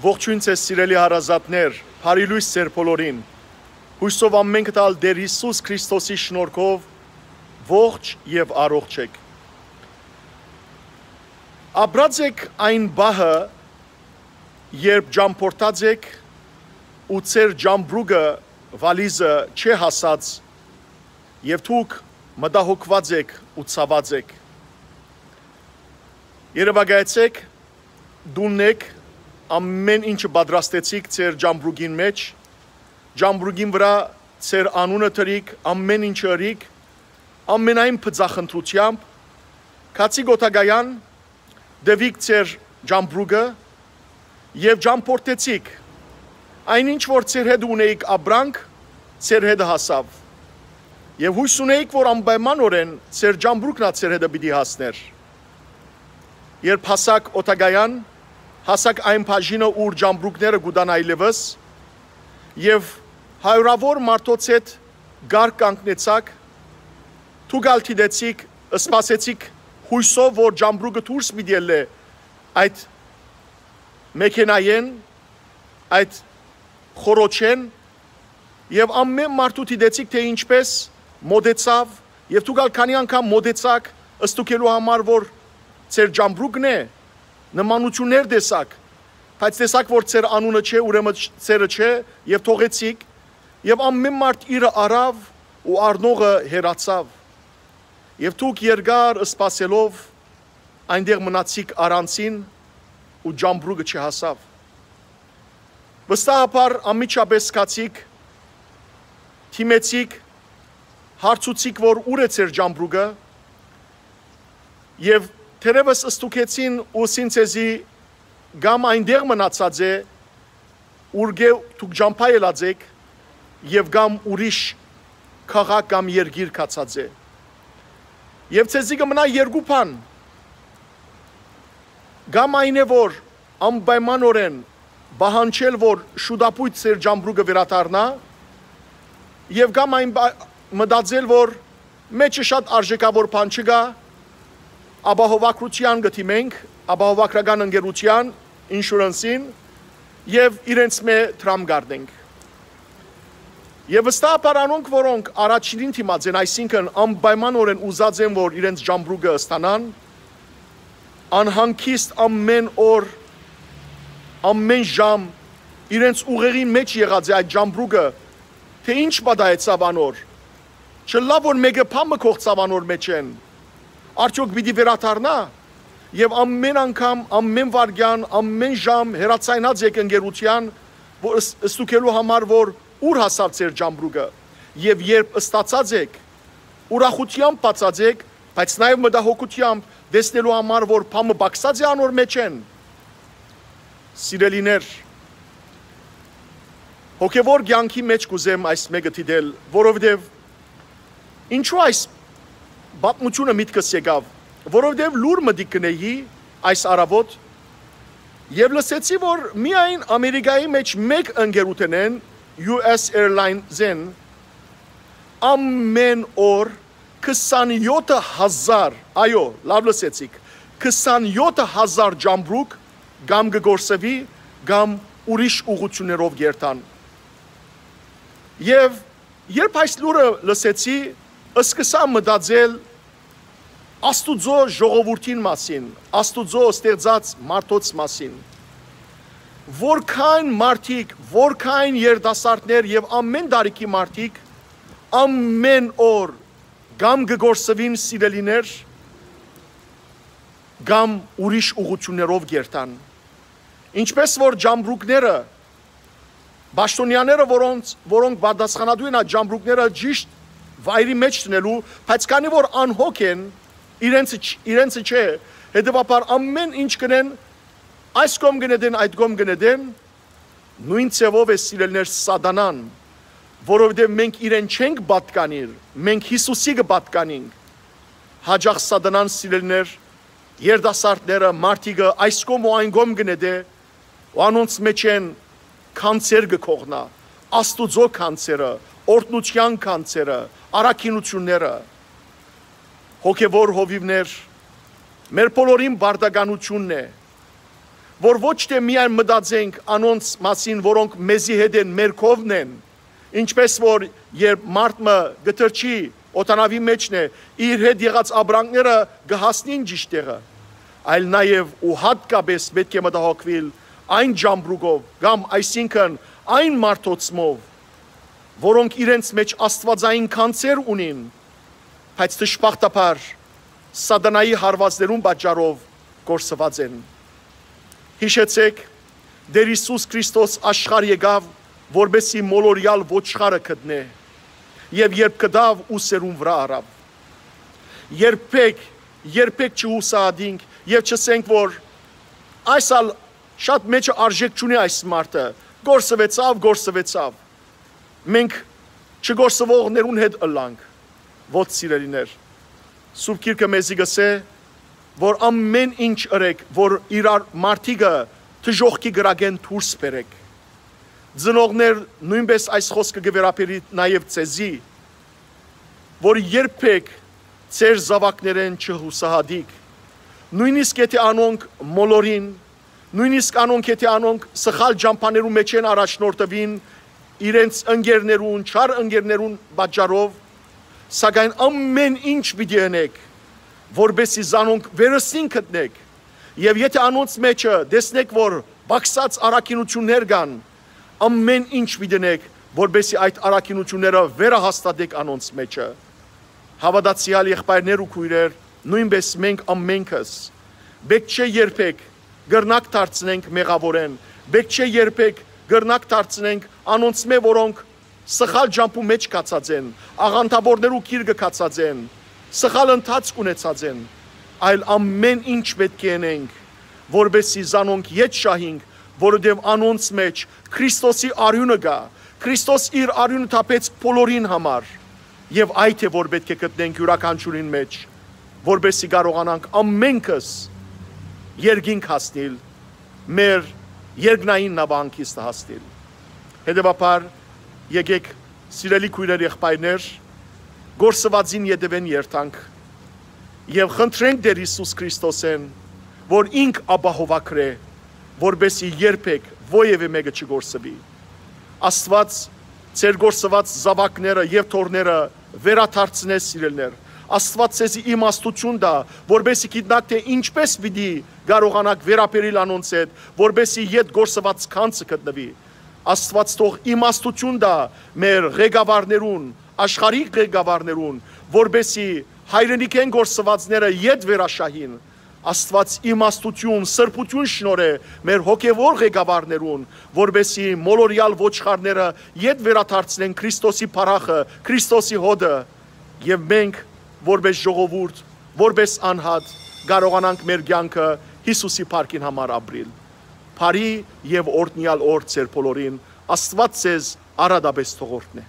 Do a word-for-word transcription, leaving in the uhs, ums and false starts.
Ողջոյն ձեզ, սիրելի հարազատներ, բարի լոյս ձեր բոլորին։ Յուսով ամէնքդ ալ Տէր Յիսուս Քրիստոսի շնորհքով ողջ եւ առողջ էք։ Ապրած էք այն պահը, երբ ճամբորդած էք ու ձեր ճամբրուկը, վալիզը չէ հասած, եւ դուք մտահոգուած էք ու ցաւած էք։ Երեւակայեցէք, տունն էք, ամէն ինչը պատրաստեցիք ձեր ճամբրուկին մէջ, ճամբրուկին վրայ ձեր անունը դրիք, ամէն ինչը ըրիք, ամենայն բծախնդրութեամբ, գացիք օդակայան, տուիք ձեր ճամբրուկը եւ ճամբորդեցիք։ Այն ինչ որ ձեր հետ ունէիք ապրանք, ձեր հետ հասաւ։ Եւ յոյս ունէիք, որ անպայմանօրէն ձեր ճամբրուկն ալ ձեր հետ պիտի հասներ։ Երբ հասաք օդակայան, հասաք այն բաժինը, ուր ճամբրուկները կու տան այլեւս, եւ հարիւրաւոր մարդոց հետ կարգ կանգնեցաք, դուք ալ դիտեցիք, սպասեցիք յոյսով, որ ճամբրուկը դուրս պիտի ելլէ այդ մեքենայէն, այդ խոռոչէն, եւ ամէն մարդու դիտեցիք, թէ ինչպէս մօտեցաւ, եւ դուք ալ քանի անգամ մօտեցաք, ստուգելու համար, որ ձեր ճամբրուկն է, նմանութիւններ տեսաք, բայց տեսաք, որ ձեր անունը չէ, ուրեմն չ-, ձերը չէ, եւ թողեցիք, եւ ամէն մարդ իրը առաւ ու առնողը հեռացաւ։ Եւ դուք երկար սպասելով այնտեղ մնացիք առանձին ու ճամբրուկը չհասաւ։ Վստահաբար անմիջապէս գացիք, դիմեցիք, հարցուցիք, որ ուր է ձեր ճամբրուկը, եւ թերեւս ստուգեցին ու ըսին ձեզի կամ այնտեղ մնացած է, ուրկէ դուք ճամբայ ելած էք, եւ կամ ուրիշ քաղաք կամ երկիր գացած է։ Եւ ձեզի կը մնայ երկու բան. կամ այն է, որ անպայմանօրէն պահանջել, որ շուտապոյտ ձեր ճամբրուկը վերադառնայ, եւ կամ այն պա-, մտածել, որ մէջը շատ արժէքաւոր բան չկայ, ապահովագրութեան կը դիմենք, ապահովագրական ընկերութեան, ինշուրանսին, եւ իրենց մէ դրամ կ'առնենք։ Եւ վստահաբար անոնք, որոնք առաջինին դիմած են, այսինքն անպայմանօրէն ուզած են, որ իրենց ճամբրուկը ստանան, անհանգիստ ամէն օր, ամէն ժամ իրենց ուղեղին մէջ եղած է այդ ճամբրուկը, թէ ի՞նչ պատահեցաւ անոր։ Չըլլայ որ մէկը բան մը կոխցաւ անոր մէջէն։ Արդեօք պիտի վերադառնա՞։ Եւ ամէն անգամ, ամէն վայրկեան, ամէն ժամ հեռացայնած էք ընկերութեան, որ ս-, ստուգելու համար, որ ուր հասաւ ձեր ճամբրուկը։ Եւ երբ ստացած էք, ուրախութեամբ բացած էք, բայց նաեւ մտահոգութեամբ, տեսնելու համար, որ բան մը պակսած է անոր մէջէն։ Սիրելիներ, հոգեվոր կեանքի մէջ կ'ուզեմ այս մէկը դիտել, որովհետեւ ինչու այս պատմութիւնը միտքս եկաւ, որովհետեւ լուր մտիկ կ'ընէի այս առաւօտ, եւ լսեցի, որ միայն Ամերիկայի մէջ մէկ ընկերութենէն, U S Airlines-էն, ամէն օր քսանեթ հազար, այո, լաւ լսեցիք, քսանեթ հազար ճամբրուկ կամ կը կորսուի, կամ ուրիշ ուղղութիւններով կ'երթան։ Եւ երբ այս լուրը լսեցի, սկսա մտածել Աստուծոյ ժողովուրդին մասին, Աստուծոյ ստեղծած մարդոց մասին, որքան մարդիկ, որքան երիտասարդներ եւ ամէն տարիքի մարդիկ ամէն օր կամ կը կորսուին, սիրելիներ, կամ ուրիշ ուղղութիւններով կ'երթան։ Ինչպէս որ ճամբրուկները, պաշտօնեաները, որոնց, որոնք պատասխանատու են այդ ճամբրուկները ճիշտ վայրի մէջ դնելու, բայց քանի որ անհոգ են, իրենց չ-, իրենց չէ, հետեւաբար ամէն ինչ կ'ընեն, այս կողմ կը նետեն, այդ կողմ կը նետեն, նոյն ձեւով է, սիրելիներ, Սատանան, որովհետեւ մենք իրեն չենք պատկանիր, մենք Յիսուսի կը պատկանենք։ Յաճախ Սատանան, սիրելիներ, երիտասարդները, մարդիկը այս կողմ ու այն կողմ կը նետէ, ու անոնց մէջէն գանձեր կը կոխնայ, Աստուծոյ գանձերը, օրհնութեան գանձերը, առաքինութիւնները։ Հոգեվոր հովիւներ, մեր բոլորին պարտականութիւնն է, որ ոչ թէ միայն մտածենք անոնց մասին, որոնք մեզի հետ են, մեր քովն են, ինչպէս որ երբ մարդ մը կը թռչի, օտանավի մէջն է, իր հետ եղած ապրանքները կը հասնին ճիշդ տեղը, այլ նաեւ ու յատկապէս պէտք է մտահոգուիլ այն ճամբրուկով կամ այսինքն այն մարդոցմով, որոնք իրենց մէջ աստուածային գանձեր ունին, բայց դժբախտաբար սատանայի հարուածներուն պատճառով կորսուած են։ Յիշեցէք, Տէր Յիսուս Քրիստոս աշխարհ եկաւ, որպէսզի մոլորեալ ոչխարը գտնէ, եւ երբ գտաւ, ուսերուն վրայ առաւ։ Երբեք, երբեք չհուսահատինք եւ չըսենք, որ այս ալ շատ մեջը արժեք չունի այս մարդը, կորսուեցաւ, կորսուեցաւ։ Մենք չկորսուողներուն հետ ըլլանք, ոչ սիրելիներ։ Սուրբ Գիրքը մեզի կ'ըսէ, որ ամէն ինչ ըրեք, որ իրար մարդիկը դժոխքի կրակէն դուրս բերեք։ Ծնողներ, նոյնպէս այս խօսքը կը վերաբերի նաեւ ձեզի, որ երբեք ձեր զաւակներէն չհուսահատիք, նոյնիսկ եթէ անոնք մոլորին, նոյնիսկ անոնք եթէ անոնք սխալ ճամբաներու մէջ են առաջնորդուին իրենց ընկերներուն, չար ընկերներուն պատճառով, սակայն ամէն ինչ պիտի ընեք, որպէսզի զանոնք վերստին գտնեք, եւ եթէ անոնց մէջը տեսնեք, որ պակսած առաքինութիւններ կան, ամէն ինչ պիտի ընեք, որպէսզի այդ առաքինութիւնները վերահաստատեք անոնց մէջը։ Հաւատացեալ եղբայրներ ու քոյրեր, նոյնպէս մենք ամենքս պէտք չէ երբեք կրնակ դարձնենք մեղաւորէն, պէտք չէ երբեք կրնակ դարձնենք անոնցմէ, որոնք սխալ ճամբու մէջ գացած են, աղանդաւորներու գիրկը գացած են, սխալ ընթացք ունեցած են, այլ ամէն ինչ պէտք է ընենք, որպէսզի զանոնք ետ շահինք, որովհետեւ անոնց մէջ Քրիստոսի արիւնը կայ, Քրիստոս իր արիւնը թափեց բոլորին համար, եւ այդ է, որ պէտք է գտնենք իւրաքանչիւրին մէջ, որպէսզի կարողանանք ամենքս երկինք հասնիլ, մեր երկնային նաւահանգիստը հասնիլ։ Հետեւաբար, եկեք, սիրելի քոյրեր, եղբայրներ, կորսուածին ետեւէն երթանք եւ խնդրենք Տէր Յիսուս Քրիստոսէն, որ ինք ապահովագրէ, որպէսզի երբեք որեւէ մէկը չկորսուի։ Աստուած ձեր կորսուած զաւակները եւ թոռները վերադարձնէ, սիրելիներ։ Աստուած ձեզի իմաստութիւն տայ, որպէսզի գիտնաք թէ ինչպէս պիտի կարողանաք վերաբերիլ անոնց հետ, որպէսզի ետ կորսուած գանձը գտնուի։ Աստուած թող իմաստութիւն տայ մեր ղեկավարներուն, աշխարհի ղեկավարներուն, որպէսզի հայրենիքէն կորսուածները ետ վերաշահին։ Աստուած իմաստութիւն, սրբութիւն շնորհէ մեր հոգեւոր ղեկավարներուն, որպէսզի մոլորեալ ոչխարները ետ վերադարձնեն Քրիստոսի փառախը, Քրիստոսի հօտը, եւ մենք, որպէս ժողովուրդ, որպէս անհատ, կարողանանք մեր կեանքը Յիսուսի փառքին համար ապրիլ։ Բարի եւ օրհնեալ օր ձեր բոլորին, Աստուած ձեզ առատապէս թող օրհնէ։